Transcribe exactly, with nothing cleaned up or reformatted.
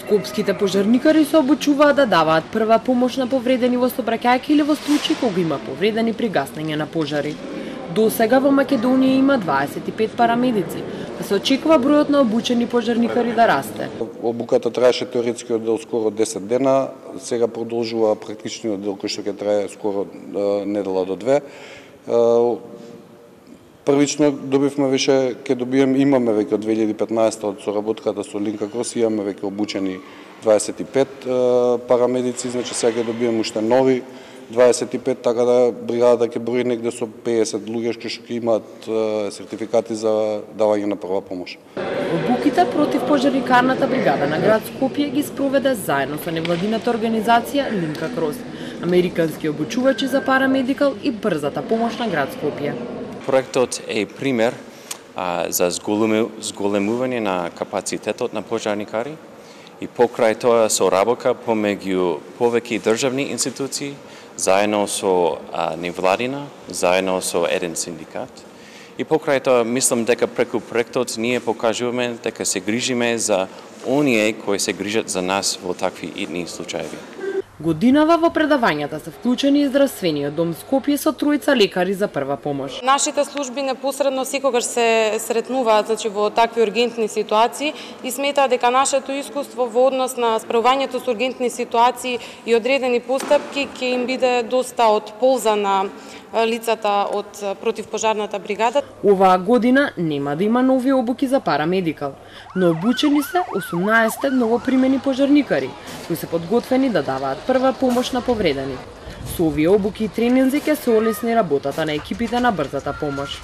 Скопските пожарникари се обучуваат да даваат прва помош на повредени во сообраќајка или во случаи кога има повредени при гаснење на пожари. До сега во Македонија има дваесет и пет парамедици, а се очекува бројот на обучени пожарникари да расте. Обуката траеше теоретскиот дел скоро десет дена, сега продолжува практичниот дел кој што ќе трае скоро недела до две. Првично добивме више, ќе добием, имаме веќе од две илјади и петнаесета од соработката со Линка Крос, имаме веќе обучени дваесет и пет парамедици, значи сега ќе добием уште нови дваесет и пет, така да бригадата ќе брои негде со пеесет луѓе што ќе имаат сертификати за давање на прва помош. Обуките против пожарникарната бригада на град Скопје ги спроведе заедно со невладината организација Линка Крос, американски обучувачи за парамедикал и брзата помош на град Скопје. Проектот е пример а, за зголемување на капацитетот на пожарникари и покрај тоа соработка помеѓу повеќе државни институции, заедно со а, невладина, заедно со еден синдикат. И покрај тоа мислам дека преку проектот ние покажуваме дека се грижиме за оние кои се грижат за нас во такви итни случаи. Годинава во предавањата се вклучени и здравствениот дом Скопје со тројца лекари за прва помош. Нашите служби непосредно секогаш се сретнуваат, значи, во такви ургентни ситуации и сметаат дека нашето искуство во однос на справувањето со ургентни ситуации и одредени постапки ќе им биде доста од полза на лицата од противпожарната бригада. Оваа година нема да има нови обуки за парамедикал, но обучени се осумнаесет новопримени пожарникари, кои се подготвени да даваат прва помош на повредени. Со овие обуки и тренинзи ќе се олесни работата на екипите на брзата помош.